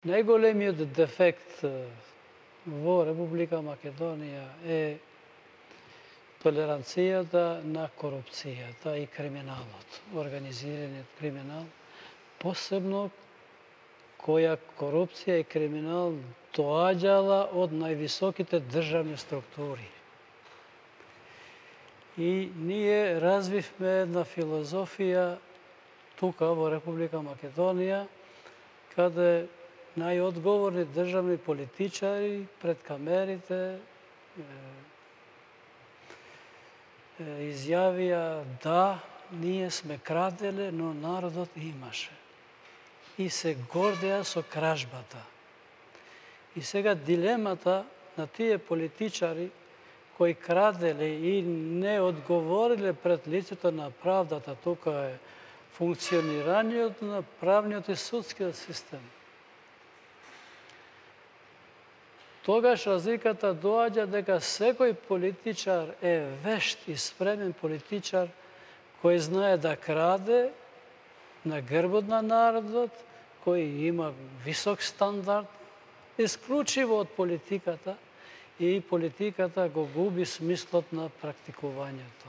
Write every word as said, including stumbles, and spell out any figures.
Најголемиот дефект во Република Македонија е толеранцијата на корупцијата и криминалот, организираниот криминал, посебно која корупција и криминал доаѓала од највисоките државни структури. И ние развивме една филозофија тука во Република Македонија, каде најодговорни државни политичари пред камерите изјавија да, ние сме краделе, но народот имаше. И се гордеа со кражбата. И сега дилемата на тие политичари кои краделе и не одговориле пред лицето на правдата, тука е функционирањето на правниот и судскиот систем. Тогаш разликата доаѓа дека секој политичар е вешт и спремен политичар кој знае да краде на грбот на народот, кој има висок стандард, исклучиво од политиката, и политиката го губи смислот на практикувањето.